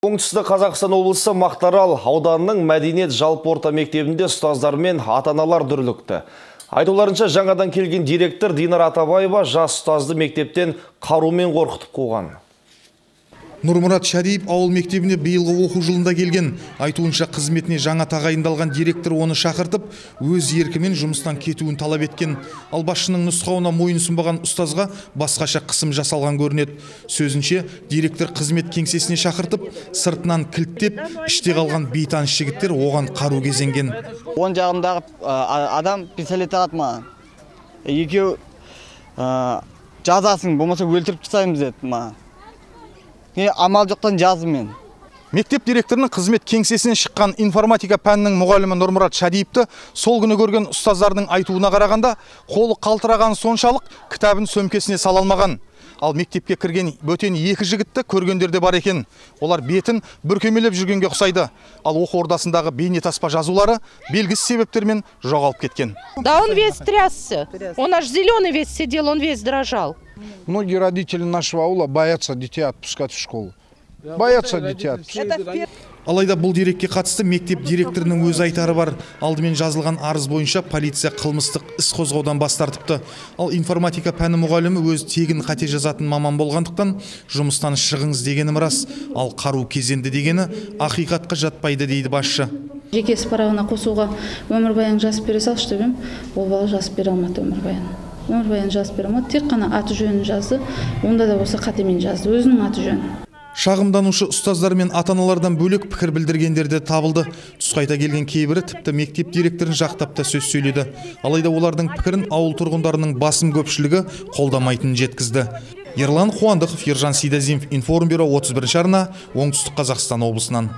Оңтүстік Қазақстан облысы Мақтаарал ауданының мәдениет жалпы орта мектебінде ұстаздар мен ата-аналар дүрлікті. Айтуларынша, жаңадан келген директор Динар Атабаева жас ұстазды мектептен қарумен қорқытып қойған. Нұрмұрат Шариев ауыл мектебіне биылғы оқу жылында келген. Айтуынша, қызметіне жаңа тағайындалған директор оны шақыртып, өз еркімен жұмыстан кетуін талап еткен. Ал басшының нұсқауына мойынсұнбаған ұстазға басқаша қысым жасалған көрінеді. Сөзінше, директор қызмет кеңсесіне шақыртып, сыртынан кілттеп, іште қалған бейтаныс жігіттер оған қару кезенген. Оң жағымдағы адам пистолет алады маған. Екеу жазасын, болмаса өлтіріп тастаймыз деді маған. Амал жоқтан жаздым мен. Мектеп директорының қызмет кеңсесінен шыққан информатика пәнінің мұғалімі Нұрмұрат Шариевті сол күні көрген ұстаздардың айтуына қарағанда, қолы қалтыраған соншалық кітабын сөмкесіне сала алмаған. Ал мектепке кірген бөтен екі жігітті көргендерде бар екен. Олар бетін бүркемелеп жүргенге ұқсайды. Ал оқу ордасындағы бейнетаспа жазулары белгісіз себептермен жоғалып кеткен. Да, он весь трясся. Он аж зеленый весь сидел, он весь дрожал. Многие родители нашего аула боятся детей отпускать в школу. Боятся детей отпускать. Алайда бұл дерекке қатысты мектеп директорының өз айтары бар. Алдымен жазылған арыз бойынша полиция қылмыстық іс қозғаудан бас тартыпты. Ал информатика пәні мұғалімі өз тегін қате жазатын маман болғандықтан жұмыстан шығыңыз дегені рас. Ал қару кезенді дегені ақиқатқа жатпайды дейді басшы. Жеке справына қосуға өмірбаян жазып бере салшы деп ем, ол бала жазып бере алмады өмірбаян. Өмірбаян жазып бере алмады, тек қана аты жөнін жазды. Онда да болса қатемен жазды, өзінің аты жөнін. Шағымданушы ұстаздар мен ата-аналардан бөлек пікір білдіргендерде табылды. Тұсқайта келген кейбірі тіпті мектеп директорын жақтап та сөз сөйледі. Алайда олардың пікірін ауыл тұрғындарының басым көпшілігі қолдамайтынын жеткізді. Ерлан Қуандықов, Ержан Сейдазимов, Информбюро 31 арна, Оңтүстік Қазақстан облысынан.